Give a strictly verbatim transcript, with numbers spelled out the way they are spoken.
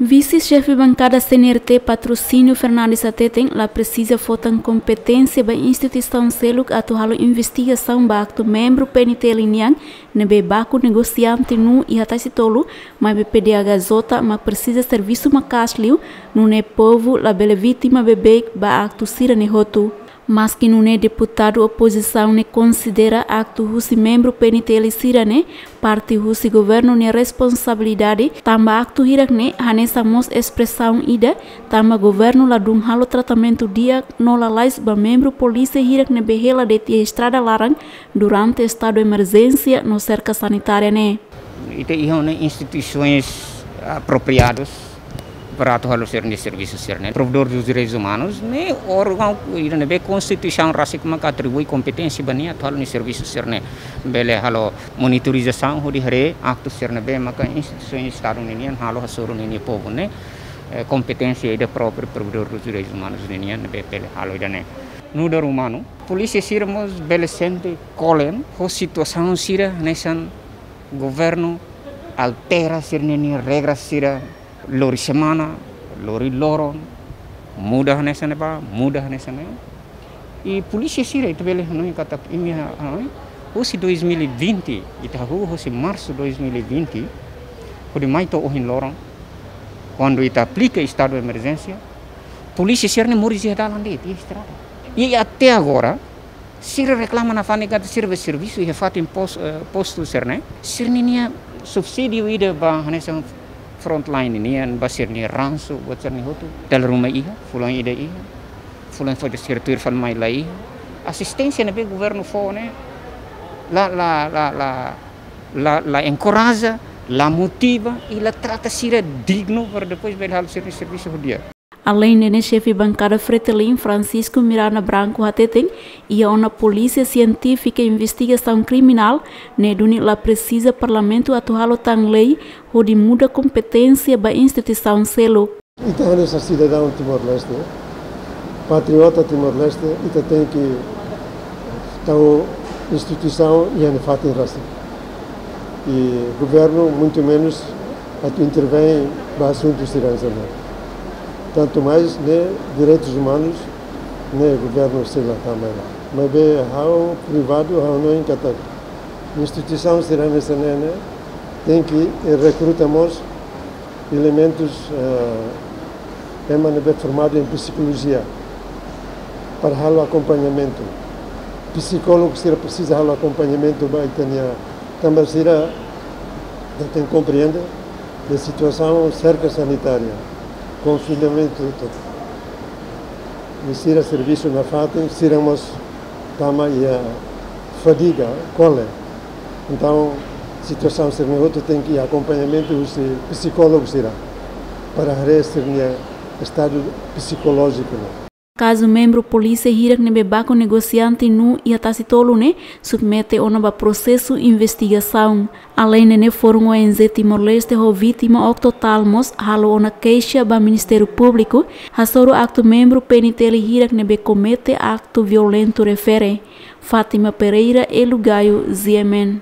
Vise-Xefe Bankada C N R T Patrocínio Fernandes hateten la presiza fó tan kompeténsia ba instituisaun seluk atu halo investigasaun ba aktu membru P N T L nian ne'ebé baku negosiante nuu iha Tasi Tolu, maibé P D H J mak presiza servisu maka'as liu, nune'e povu labele vítima beibeik ba aktu sira-ne'e hotu. Maski nune'e, deputadu opozisaun ne'e konsidera aktu husi membru P N T L sira-ne'e parte husi governu nia responsabilidade, tanba aktu hirak-ne'e hanesan mós espresaun ida, tanba governu ladún halo tratamentu di'ak no lalais ba membru polísia hirak ne'ebé hela de'it iha estrada laran durante estadu emerjénsia no serka sanitária ne'e. Ita iha ona instituisoens apropriadus para atu halo sira-nia servisu sira-ne'e. Provedór dos Direitus Umanus ne'e órgaun ida ne'ebé Konstituisaun rasik maka atribui kompeténsia ba nia atu halo nia servisu sira-ne'e. Bele halo monitorizasaun hodi haree aktu sira ne'ebé maka instituisoens estadu ninian halo hasoru ninia povu ne'e, eh, kompeténsia ida própriu Provedór dos Direitus Umanus ninian ne'ebé bele halo ida-ne'e. Nu'udar umanu, polísia sira mós bele sente kolen ho situasaun sira hanesan governu altera sira-nia regra sira lori semana, lori loron, muda hanesan ne'ebá, muda hanesan ne'e. I polísia sira ita bele hanoin katak imi ha-, hanoin, husi dois mil e vinte, ita hahú husi marsu dois mil e vinte, hodi mai to'o ohin loron, kuandu ita aplika estadu emerjénsia, polísia sira-ne'e moris iha dalan de'it, iha estrada. I até agora, sira reklama nafatin katak sira bá servisu iha fatin pos-, eh, postu sira-ne'e. Sira-ninia subsídiu ida ba hanesan frontline nian, ba sira-nia ransu, buat sira-ne'e hotu. Dala ruma iha, fulan ida iha. Fulan fali sira tuir fali mai la iha. Asisténsia ne'ebé governu fó ne'e la, la, la, la, la, la enkoraja, la motiva, i la trata sira dignu para depois bele halo sira-nia servisu ho di'ak. Aleinde ne'e, xefe bankada Fretilin, Francisco Miranda Branco, hateten iha ona polísia sientífika investigasaun kriminál ne'e duni la presiza parlamentu atu halo tan lei hodi muda kompeténsia ba instituisaun seluk. Ita hanesan sidadaun Timor-Leste, patriota Timor-Leste, ita tenke tau instituisaun iha nia fatin rasik. I governu, muito menos, atu intervém ba asuntu sira-ne'e. Tantu mais ne'e direitus umanus, ne'e governu sei la tama ona. Maibé ha'u privadu, ha'u hanoin katak instituisaun sira-ne'e, sira-ne'e tenke rekruta mós elementus, eh, ema ne'ebé formadu em psikolojia para halo akompañamentu. Psikólogu sira presiza halo akompañamentu ba ita-nia, tanba sira tenke komprende de situasaun serka sanitária, konfinamentu, tudu. I sira servisu nafatin, sira mós tama iha fadiga, kole. Entaun, situasaun sira-ne'e hotu tenke akompañamentu husi psikólogu sira para haree sira-nia estadu psikolójiku ne'e. Kazu membru polísia hirak ne'ebé baku negosiante nuu iha Tasi Tolu ne'e submete ona ba prosesu investigasaun. Aleinde ne'e, Fórum O N G Timor-Leste ho vítima Octo Talmos halo ona keixa ba Ministériu Públiku hasoru aktu membru P N T L hirak ne'ebé komete aktu violentu refere. Fátima Pereira, Elu Gayo, G M N.